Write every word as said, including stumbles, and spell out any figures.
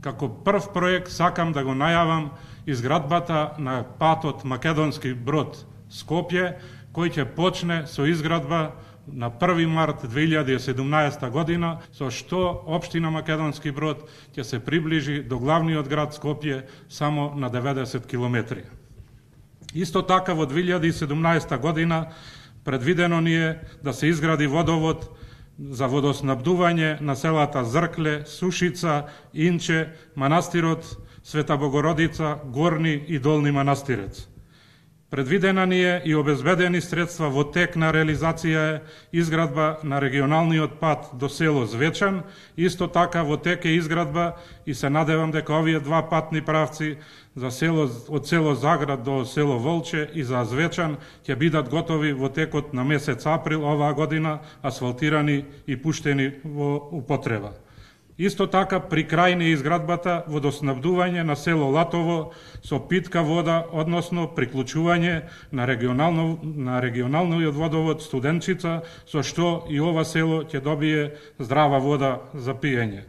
како прв проект сакам да го најавам изградбата на патот Македонски Брод Скопје, кој ќе почне со изградба на први март две илјади и седумнаесета година, со што општина Македонски Брод ќе се приближи до главниот град Скопје само на деветдесет километри. Исто така во две илјади и седумнаесета година предвидено ни е да се изгради водовод за водоснабдување на селата Зркле, Сушица, Инче, манастирот Света Богородица, Горни и Долни Манастирец. Предвидена ни е и обезбедени средства во тек на реализација е изградба на регионалниот пат до село Звечан, исто така во тек е изградба и се надевам дека овие два патни правци за село, од село Заград до село Волче и за Звечан ќе бидат готови во текот на месец април оваа година, асфалтирани и пуштени во употреба. Исто така, при крај на изградбата водоснабдување на село Латово со питка вода, односно приклучување на регионално на регионалниот водовод Студенчица, со што и ова село ќе добие здрава вода за пиење.